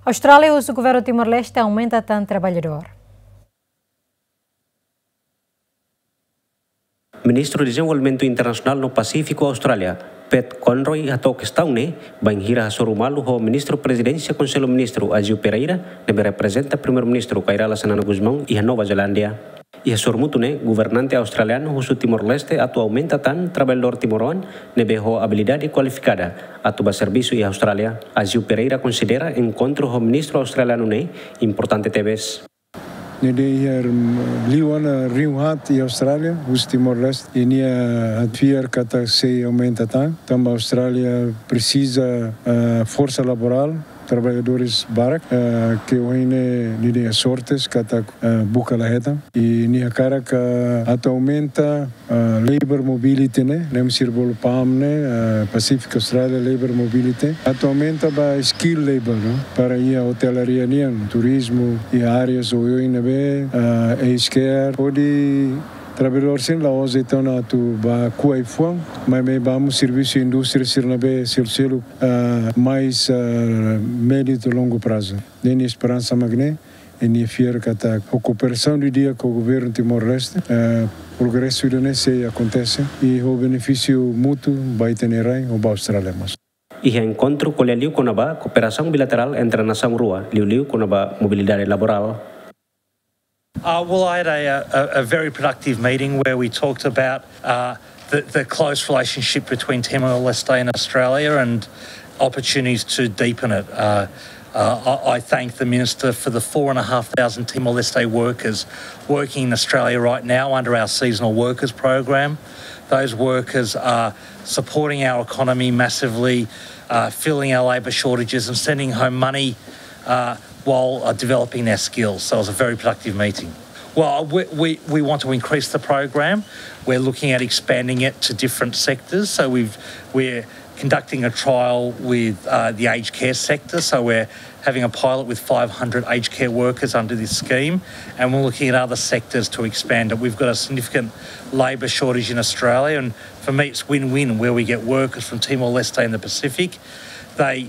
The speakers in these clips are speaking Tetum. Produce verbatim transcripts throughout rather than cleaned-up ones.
Austrália husu governu Timor-Leste aumenta tan traballadór. Ministru Dezenvolvimentu Internasionál no Pasífiku Austrália, Pat Conroy, hato'o kestaun ne'e bainhira hasoru malu ho Ministru Prezidénsia Konsellu Ministru, Aziu Pereira, ne'ebé reprezenta Primeiru-Ministru, Kay Rala Xanana Gusmão, iha Nova Zelándia. Iha sorumutu ne'e, governante australianu husu Timor-Leste atu aumenta tan traballadór timoroan ne'ebé ho abilidade kualifikada atu bá servisu iha Austrália. Aziu Pereira konsidera enkontru ho ministru australianu ne'e importante tebes. Ne'e dehan iha, mm, liu ona rihun haat iha Austrália husi Timor-Leste, i nia fiar katak sei aumenta tan, tanba Austrália presiza, ah, forsa laborál, traballadores barak, ah, ke ohin ne'e nia dehan sorte katak, ah, buka la hetan. I nia hakarak, ah, atu aumenta, ah, labor mobility ne'e, ne'ebé sira bolu PALM ne'e, ah, Pacific Australia Labor Mobility. Atu aumenta ba skilled labor, no? Para iha hotelaria nian, turizmu, iha áreas oioin ne'ebé, ah, aged care, hodi traballadór sira la'ós de'it ona atu bá ku'u ai-fuan, maibé bá mós servisu indústria sira ne'ebé selu-seluk, ah, mais, ah, médiu to'o longu prazu. Ne'e nia esperansa mak ne'e, i nia fiar katak ho kooperasaun didi'ak ho governu Timor-Leste, eh, progresu ida-ne'e sei akontese, i ho benefísiu mútuu ba ita-nia rai, ho ba Austrália mós. Iha enkontru ko'alia liu kona-ba kooperasaun bilaterál entre nasaun rua, liuliu kona-ba mobilidade laborál. Uh, well, I had a, a, a very productive meeting where we talked about, uh, the, the close relationship between Timor-Leste and Australia and opportunities to deepen it. Uh, uh, I, I thank the Minister for the four and a half thousand Timor-Leste workers working in Australia right now under our seasonal workers program. Those workers are supporting our economy massively, uh, filling our labour shortages and sending home money, uh, while, uh, developing their skills. So it was a very productive meeting. Well, we, we, we want to increase the program. We're looking at expanding it to different sectors. So we've, we're conducting a trial with, uh, the aged care sector. So we're having a pilot with five hundred aged care workers under this scheme, and we're looking at other sectors to expand it. We've got a significant labour shortage in Australia, and for me, it's win-win where we get workers from Timor-Leste and the Pacific. They,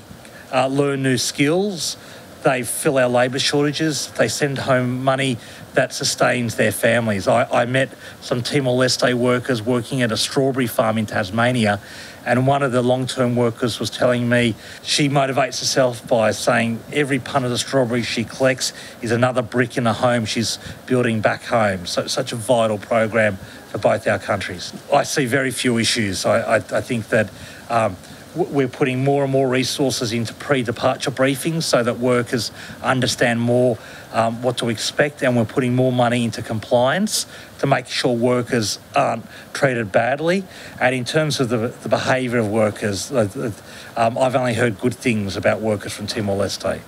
uh, learn new skills, they fill our labour shortages, they send home money that sustains their families. I, I met some Timor-Leste workers working at a strawberry farm in Tasmania, and one of the long-term workers was telling me she motivates herself by saying every punt of the strawberries she collects is another brick in the home she's building back home. So, such a vital program for both our countries. I see very few issues. I, I, I think that, um, w-, we're putting more and more resources into pre-departure briefings so that workers understand more, um, what to expect, and we're putting more money into compliance to make sure workers aren't treated badly. And in terms of the, the behaviour of workers, uh, uh, um, I've only heard good things about workers from Timor-Leste.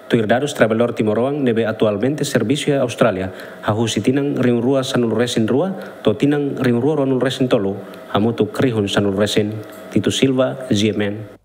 Tuir dadus, traballadór timoroan ne'ebé atualmente servisu iha Austrália, hahú husi tinan rihun rua sanulu-resin-rua to'o tinan rihun rua ruanulu-resin-tolu, hamutuk rihun sanulu-resin. Tito Silva, G M N.